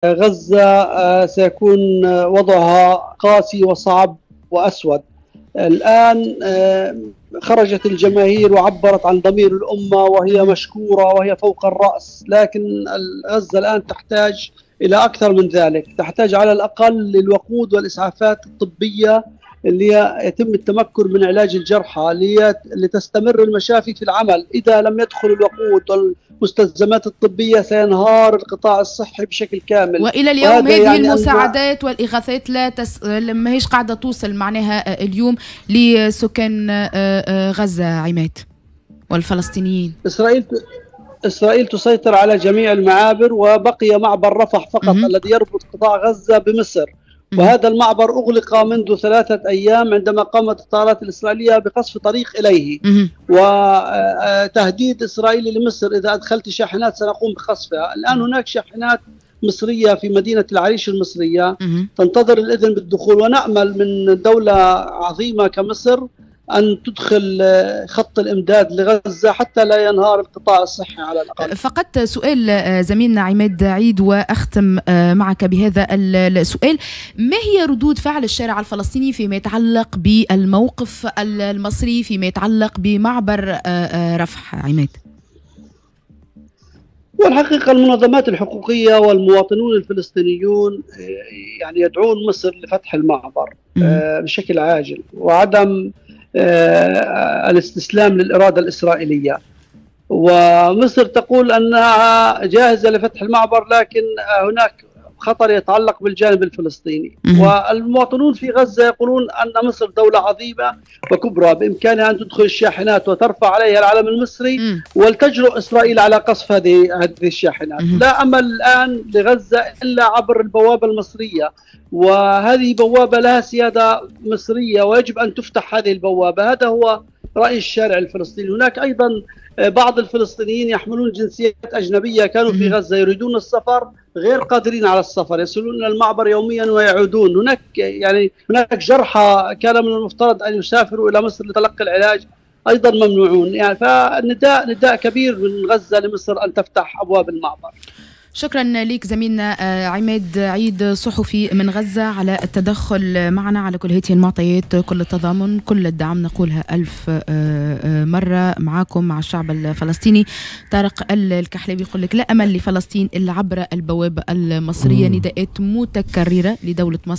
غزة سيكون وضعها قاسي وصعب وأسود. الآن خرجت الجماهير وعبرت عن ضمير الأمة وهي مشكورة وهي فوق الرأس، لكن غزة الآن تحتاج إلى أكثر من ذلك، تحتاج على الأقل للوقود والإسعافات الطبية اللي يتم التمكن من علاج الجرحى لتستمر المشافي في العمل. إذا لم يدخل الوقود والمستلزمات الطبية سينهار القطاع الصحي بشكل كامل. وإلى اليوم هذه يعني المساعدات والإغاثات ما هيش قاعدة توصل معناها اليوم لسكان غزة عماد والفلسطينيين. إسرائيل تسيطر على جميع المعابر، وبقي معبر رفح فقط الذي يربط قطاع غزة بمصر، وهذا المعبر أغلق منذ 3 أيام عندما قامت الطائرات الإسرائيلية بقصف طريق إليه، وتهديد إسرائيلي لمصر إذا أدخلت شاحنات سنقوم بقصفها. الآن هناك شاحنات مصرية في مدينة العريش المصرية تنتظر الإذن بالدخول، ونأمل من دولة عظيمة كمصر أن تدخل خط الإمداد لغزة حتى لا ينهار القطاع الصحي على الأقل. فقط سؤال زميلنا عماد عيد وأختم معك بهذا السؤال، ما هي ردود فعل الشارع الفلسطيني فيما يتعلق بالموقف المصري فيما يتعلق بمعبر رفح عماد؟ والحقيقة المنظمات الحقوقية والمواطنون الفلسطينيون يعني يدعون مصر لفتح المعبر بشكل عاجل وعدم الاستسلام للإرادة الإسرائيلية. ومصر تقول أنها جاهزة لفتح المعبر، لكن هناك خطر يتعلق بالجانب الفلسطيني. والمواطنون في غزة يقولون أن مصر دولة عظيمة وكبرى بإمكانها أن تدخل الشاحنات وترفع عليها العلم المصري، ولتجرؤ إسرائيل على قصف هذه الشاحنات. لا أمل الآن لغزة إلا عبر البوابة المصرية، وهذه بوابة لها سيادة مصرية ويجب أن تفتح هذه البوابة. هذا هو رأي الشارع الفلسطيني. هناك أيضا بعض الفلسطينيين يحملون جنسيات أجنبية كانوا في غزة يريدون السفر غير قادرين على السفر، يصلون إلى المعبر يوميا ويعودون. هناك جرحى كان من المفترض أن يسافروا إلى مصر لتلقي العلاج أيضا ممنوعون. يعني فالنداء نداء كبير من غزة لمصر أن تفتح أبواب المعبر. شكرا لك زميلنا عماد عيد صحفي من غزة على التدخل معنا على كل هذه المعطيات، كل التضامن كل الدعم نقولها 1000 مرة معاكم مع الشعب الفلسطيني. طارق الكحلاوي يقول لك لا أمل لفلسطين إلا عبر البوابة المصرية، نداءات متكررة لدولة مصر.